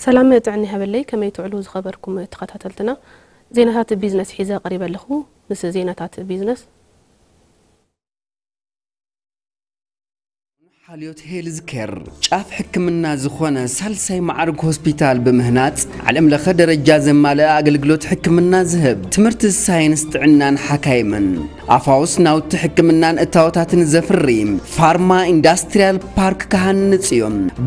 ሰላም ጥዕና ይሃበለይ። ከመይ ትውዕሉ ዝኸበርኩም ተኸታተልትና? ዜናታት ቢዝነስ ሒዘ ቀሪበ ኣለኹ። ምስ ዜናታት ቢዝነስ። ሓልዮት ሄልዝ ኬር ጫፍ ሕክምና ዝኾነ ሳልሳይ ማዕርግ ሆስፒታል ብምህናጽ፣ ዓለም ለኸ ደረጃ ዘማልአ ኣገልግሎት ሕክምና ዝህብ፣ ትምህርቲ ሳይንስ ጥዕናን ሓካይምን፣ ኣፋውስ ናውቲ ሕክምናን እታወታትን ዘፍሪ ፋርማ ኢንዳስትሪያል ፓርክ ክሃንጽ እዩ።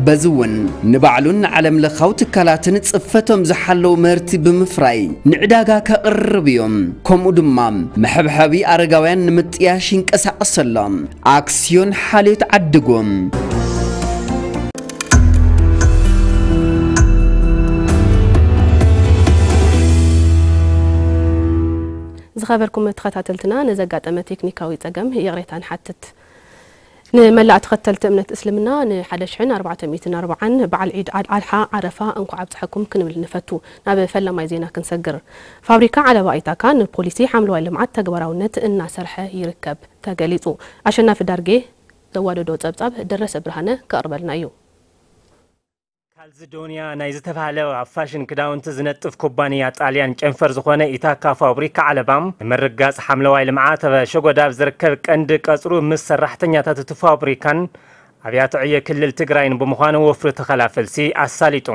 በዚ እውን ንባዕሉን ንዓለም ለኻዊ ትካላትን ጽፈቶም ዝሓለዉ ምህርቲ ብምፍራይ ንዕዳጋ ከቕርብ እዩ። ከምኡ ድማ መሐብሐቢ ኣረጋውያን ንምጥያሽ ይንቀሳቐስ ኣሎ። ኣክስዮን ሓልዮት ዓድጉ። ዝኸበርኩም ተኸታተልትና፣ ንዘጋጠመ ቴክኒካዊ ጸገም ይቕሬታ ንሓትት። ንመላእ ተኸተልቲ እምነት እስልምና ን ሓደ ሽሕን ኣርባዕተ ሚእትን ኣርባዓን በዓል ዒድ ኣል ኣድሓ ዓረፋ እንኳዕ ኣብፀሐኩም ክንብል ንፈቱ። ናብ ፈላማይ ዜና ክንሰግር። ፋብሪካ ዓለባ ኢታካ ንፖሊሲ ሓምለዋይ ልምዓት ተግባራውነት እናሰርሐ ይርከብ ተገሊፁ። ኣሸናፊ ዳርጌ ዘዋደዶ ጸብጻብ ደረሰ ብርሃነ ከቕርበልና እዩ። ካልዚዶንያ ናይ ዝተባህለ ኣብ ፋሽን ክዳውንቲ ዝነጥፍ ኩባንያ ጣልያን ጨንፈር ዝኾነ ኢታካ ፋብሪካ ዓለባ ንምርጋጽ ሓምለዋይ ልምዓት ኣብ ሸጎዳ ኣብ ዝርከብ ቀንዲ ቀጽሩ ምስ ሰራሕተኛታት እቲ ፋብሪካን ኣብያተ ዕዮ ክልል ትግራይን ብምዃኑ ወፍሪ ተኸላ ፈልሲ ኣሳሊጡ።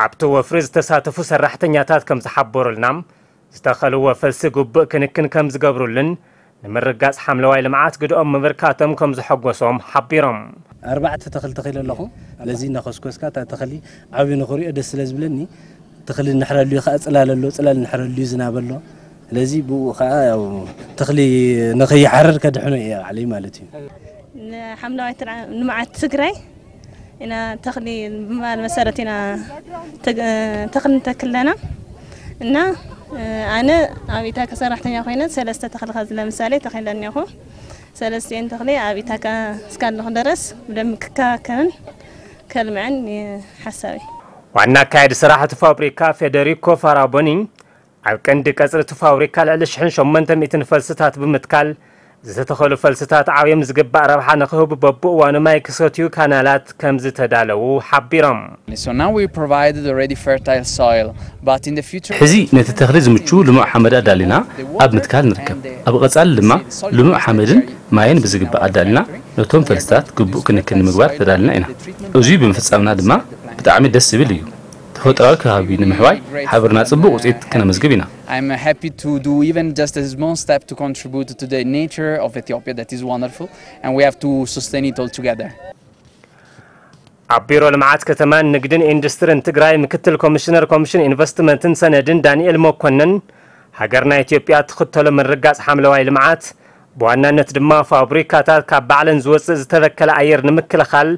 ኣብቲ ወፍሪ ዝተሳተፉ ሰራሕተኛታት ከም ዝሓበሩልና ዝተኸልዎ ፈልሲ ግቡእ ክንክን ከም ዝገብሩሉን ንምርጋጽ ሓምለዋይ ልምዓት ግድኦም ምብርካቶም ከም ዘሐጎሶም ሓቢሮም። ኣርባዕተ ተኽሊ ተኺለ ኣለኹ። ስለዚ እናኾስኮስካ እታ ተኽሊ ዓብዩ ንኽሪኦ ደስ ስለ ዝብለኒ፣ ተኽሊ ንሕረሉ እዩ፣ ከዓ ጽላል ኣሎ፣ ጽላል ንሕረሉ እዩ፣ ዝናብ ኣሎ። ስለዚ ብኡ ከዓ ያው ተኽሊ ንኸይሓርር ከድሕኖ እየ ባዕለይ ማለት እዩ። ንሓምለዋይ ትርዓ-፣ ልምዓት ትግራይ ኢና ተኽሊ ብምባል መሰረት ኢና ተግ-፣ ተኽሊ ንተክል ኣለና። እና፣ እ፣ ኣነ ኣብ ኢታካ ሰራሕተኛ ኮይነ ሰለስተ ተኽሊ ከዚ ለምሳሌ ተኺለ እኒኹ። ሰለስቲኤን ተኽሊ ኣብ ኢታካ እስካለኹ ድረስ ብደንቢ ክከባከብን ከልምዐን እዩ ሓሳበይ። ዋና ኣካያዲ ስራሕ እቲ ፋብሪካ ፌደሪኮ ፋራቦኒ ኣብ ቀንዲ ቀጽሪ እቲ ፋብሪካ ልዕሊ ሽሕን ሸሞንተ ሚእትን ፈልስታት ብምትካል ዝተተኸሉ ፈልስታት ዓብዮም ዝግባእ ረብሓ ንኽህቡ በብእዋኑ ማይ ክሰትዩ ካናላት ከም ዝተዳለዉ ሓቢሮም። So now we provide the ready fertile soil, but in the future ሕዚ ነቲ ተኽሊ ዝምቹ ልሙዕ ሓመድ ኣዳሊና ኣብ ምትካል ንርከብ። ኣብ ቐጻሊ ድማ ልሙዕ ሓመድን ማይን ብዝግባእ ኣዳሊና ነቶም ፈልስታት ግቡእ ክንክን ንምግባር ተዳሊና ኢና። እዙይ ብምፍጻምና ድማ ብጣዕሚ ደስ ዝብል እዩ። ተፈጥሮኣዊ ከባቢ ንምሕዋይ ሓቢርና ጽቡቕ ውጽኢት ከነመዝግብ ኢና። I'm happy to do even just a small step to contribute to the nature of Ethiopia that is wonderful, and we have to sustain it all together. ኣብ ቢሮ ልምዓት ከተማን ንግድን ኢንዱስትሪን ትግራይ ምክትል ኮሚሽነር ኮሚሽን ኢንቨስትመንትን ሰነድን ዳንኤል መኮነን፣ ሃገርና ኢትዮጵያ ትኽተሎ ምርጋጽ ሓምለዋይ ልምዓት፣ ብዋናነት ድማ ፋብሪካታት ካብ ባዕለን ዝወጽእ ዝተበከለ ኣየር ንምክልኻል፣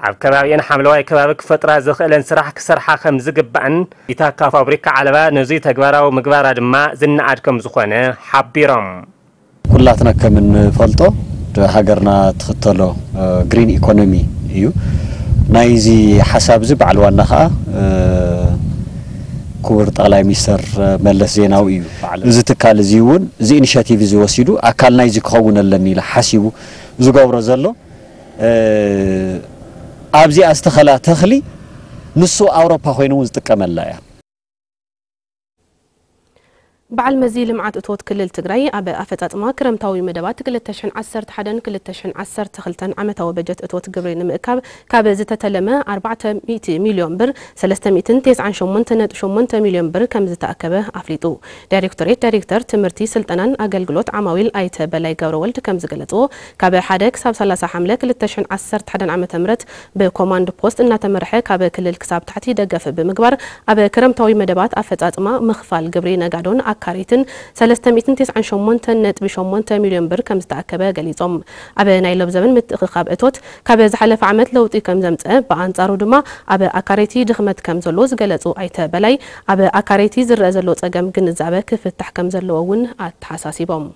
ኣብ ከባቢኤን ሓምለዋይ ከባቢ ክፈጥራ ዝኽእለን ስራሕ ክሰርሓ ከም ዝግባእን፣ ኢታካ ፋብሪካ ዓለባ ነዙይ ተግባራዊ ምግባራ ድማ ዝነኣድ ከም ዝኾነ ሓቢሮም። ኩላትና ከም እንፈልጦ፣ ሃገርና ትኽተሎ፣ እ፣ ግሪን ኢኮኖሚ እዩ። ናይዚ ሓሳብ እዚ በዓል ዋና ኸዓ፣ እ፣ ክቡር ጠቕላይ ሚኒስተር መለስ ዜናዊ እዩ። እዚ ትካል እዚ እውን እዚ ኢኒሼቲቭ እዚ ወሲዱ ኣካል ናይዚ ክኸውን ኣለኒ ኢለ ሓሲቡ ዝገብሮ ዘሎ፣ እ፣ ኣብዚኣ ዝተኸላ ተኽሊ ንሱ ኣውሮፓ ኮይኑ እውን ዝጥቀመላ እያ። በዓል መዚ ልምዓት እቶት ክልል ትግራይ ኣብ ኣፈፃፅማ ክረምታዊ መደባት ክልተ ሽሕን ዓሰርተ ሓደን ክልተ ሽሕን ዓሰርተ ክልተን ዓመታዊ በጀት እቶት ግብሪ ንምእካብ ካብ ዝተተለመ ኣርባዕተ ሚእቲ ሚልዮን ብር ሰለስተ ሚእትን ተስዓን ሸሞንተ ነጥቢ ሸሞንተ ሚልዮን ብር ከም ዝተኣከበ ኣፍሊጡ። ዳይሬክቶሬት ዳይሬክተር ትምህርቲ፣ ስልጠናን ኣገልግሎት ዓማዊል ኣይተ በላይ ገብረወልድ ከም ዝገለፅዎ፣ ካብ ሓደ ክሳብ ሰላሳ ሓምለ ክልተ ሽሕን ዓሰርተ ሓደን ዓመተ ምህረት ብኮማንድ ፖስት እናተመርሐ ካብ ክልል ክሳብ ታሕቲ ደገፍ ብምግባር ኣብ ክረምታዊ መደባት ኣፈፃፅማ ምኽፋል ግብሪ ነጋዶን ኣካረይትን ሰለስተ ሚእትን ተስዓን ሸሞንተን ነጥቢ ሸሞንተ ሚልዮን ብር ከም ዝተኣከበ ገሊፆም። ኣብ ናይ ሎብ ዘበን ምትእኽኻብ እቶት ካብ ዝሓለፈ ዓመት ለውጢ ከም ዘምፀ፣ ብኣንፃሩ ድማ ኣብ ኣካረይቲ ድኽመት ከም ዘሎ ዝገለፁ ኣይተ በላይ፣ ኣብ ኣካረይቲ ዝረአ ዘሎ ፀገም ግንዛበ ክፍታሕ ከም ዘለዎ እውን ኣተሓሳሲቦም።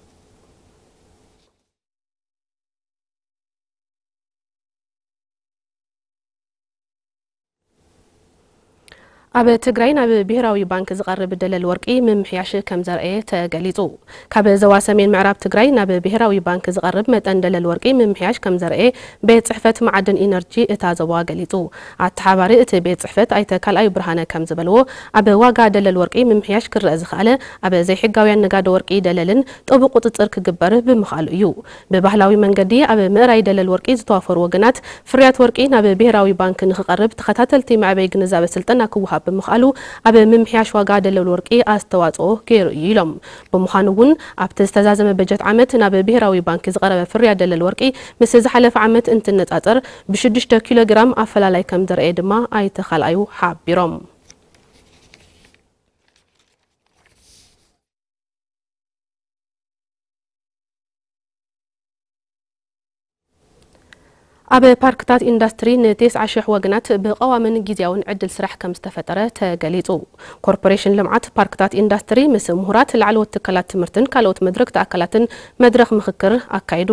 ኣብ ትግራይ ናብ ብሄራዊ ባንክ ዝቐርብ ደለል ወርቂ ምምሕያሽ ከም ዘርአየ ተገሊጹ። ካብ ዞባ ሰሜን ምዕራብ ትግራይ ናብ ብሄራዊ ባንክ ዝቐርብ መጠን ደለል ወርቂ ምምሕያሽ ከም ዘርአየ ቤት ጽሕፈት መዓድን ኢነርጂ እታ ዞባ ገሊጹ። ኣተሓባሪ እቲ ቤት ጽሕፈት ኣይተ ካልኣዩ ብርሃነ ከም ዝበልዎ፣ ኣብ ዋጋ ደለል ወርቂ ምምሕያሽ ክረአ ዝኸኣለ ኣብ ዘይሕጋውያን ነጋዶ ወርቂ ደለልን ጥቡቕ ቁጽጽር ክግበር ብምኽኣሉ እዩ። ብባህላዊ መንገዲ ኣብ ምእራይ ደለል ወርቂ ዝተዋፈሩ ወገናት፣ ፍርያት ወርቂ ናብ ብሄራዊ ባንክ ንኽቐርብ ተኸታተልቲ መዕበይ ግንዛበ ስልጠና ክወሃብ ብምኽኣሉ፣ ኣብ ምምሕያሽ ዋጋ ደለል ወርቂ ኣስተዋጽኦ ገይሩ እዩ ኢሎም። ብምዃኑ እውን ኣብቲ ዝተዛዘመ በጀት ዓመት ናብ ብሄራዊ ባንክ ዝቐረበ ፍርያት ደለል ወርቂ ምስ ዝሓለፈ ዓመት እንትነጻጸር ብሽዱሽተ ኪሎ ግራም ኣፈላላይ ከም ዘርአየ ድማ ኣይተ ካልኣዩ ሓቢሮም። ኣብ ፓርክታት ኢንዳስትሪ ንተስዓ ሽሕ ወገናት ብቐዋምን ግዝያውን ዕድል ስራሕ ከም ዝተፈጠረ ተገሊጹ። ኮርፖሬሽን ልምዓት ፓርክታት ኢንዳስትሪ ምስ ምሁራት፣ ላዕለዎት ትካላት ትምህርትን ካልኦት መድረክቲ ኣካላትን መድረኽ ምኽክር ኣካይዱ።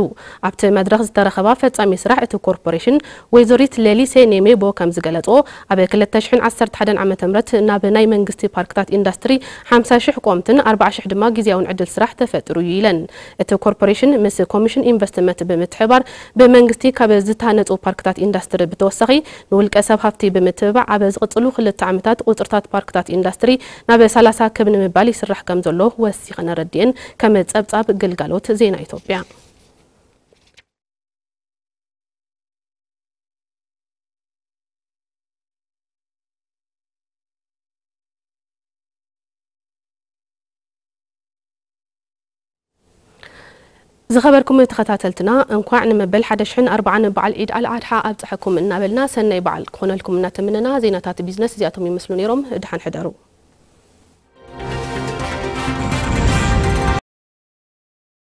ኣብቲ መድረኽ ዝተረኸባ ፈጻሚ ስራሕ እቲ ኮርፖሬሽን ወይዘሪት ሌሊሴ ኔሜቦ ከም ዝገለጽዎ፣ ኣብ ክልተ ሽሕን ዓሰርተ ሓደን ዓመተ ምህረት ናብ ናይ መንግስቲ ፓርክታት ኢንዳስትሪ ሓምሳ ሽሕ ቆምትን ኣርባዓ ሽሕ ድማ ግዝያውን ዕድል ስራሕ ተፈጢሩ እዩ ኢለን። እቲ ኮርፖሬሽን ምስ ኮሚሽን ኢንቨስትመንት ብምትሕባር ብመንግስቲ ካብ ዝተሃነፁ ፓርክታት ኢንዳስትሪ ብተወሳኺ ንውልቀ ሰብ ሃፍቲ ብምትብባዕ ኣብ ዝቕፅሉ ክልተ ዓመታት ቁፅርታት ፓርክታት ኢንዳስትሪ ናብ ሰላሳ ክብ ንምባል ይስራሕ ከም ዘሎ ወሲኸን ኣረዲኤን። ከም ፀብፃብ ግልጋሎት ዜና ኢትዮጵያ። ዝኸበርኩም ተኸታተልትና፣ እንኳዕ ንመበል ሓደ ሽሕን ኣርባዓን በዓል ዒድ ኣልኣድሓ ኣብፀሐኩም እናበልና፣ ሰናይ በዓል ክኾነልኩም እናተመነና፣ ዜናታት ቢዝነስ እዚኣቶም ይመስሉ ነይሮም። ደሓን ሕደሩ።